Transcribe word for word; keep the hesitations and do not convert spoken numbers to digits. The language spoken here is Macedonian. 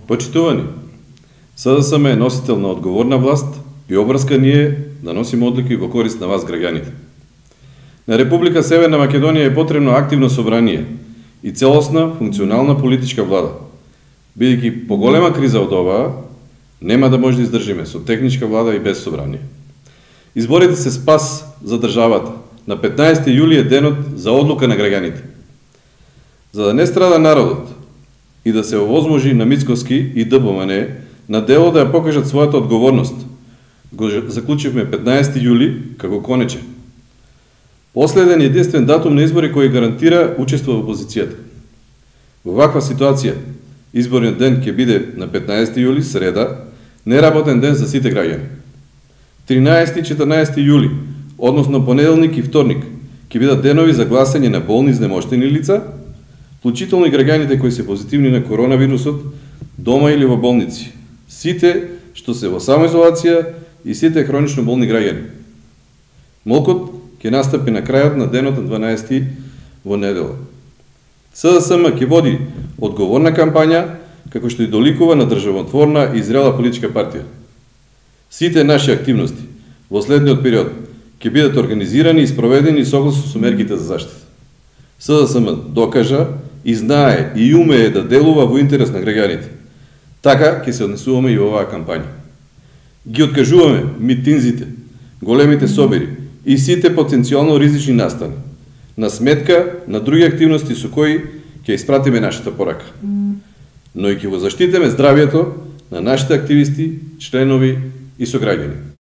Почитувани, СДСМ е носител на одговорна власт и обврска ни е да носиме одлуки во корист на вас, граѓаните. На Република Северна Македонија е потребно активно собрание и целосна функционална политичка влада. Бидејќи поголема криза од оваа, нема да може да издржиме со техничка влада и без собрание. Изборите се спас за државата. На петнаесети јули е денот за одлука на граѓаните. За да не страда народот и да се овозможи на Мицкоски и ДПМН на дело да ја покажат својата одговорност, го заклучивме петнаесети јули како конечен. Последен и единствен датум на избори кој гарантира учество во опозицијата. Во ваква ситуација, изборниот ден ќе биде на петнаесети јули, среда, неработен ден за сите граѓани. тринаесети и четрнаесети јули, односно понеделник и вторник, ќе бидат денови за гласање на болни изнемоштени лица, вклучително и граѓаните кои се позитивни на коронавирусот, дома или во болници, сите што се во самоизолација и сите хронично болни граѓани. Молкот ќе настапи на крајот на денот на дванаесети во недела. СДСМ ќе води одговорна кампања, како што и доликува на државотворна и зрела политичка партија. Сите наши активности во следниот период ќе бидат организирани и спроведени согласно со мерките за заштита. СДСМ докажа и знае и умее да делува во интерес на граѓаните. Така ќе се однесуваме и во оваа кампања. Ги откажуваме митинзите, големите собери и сите потенцијално ризични настани, на сметка на други активности со кои ќе испратиме нашата порака. Но и ќе го заштитиме здравјето на нашите активисти, членови и сограѓани.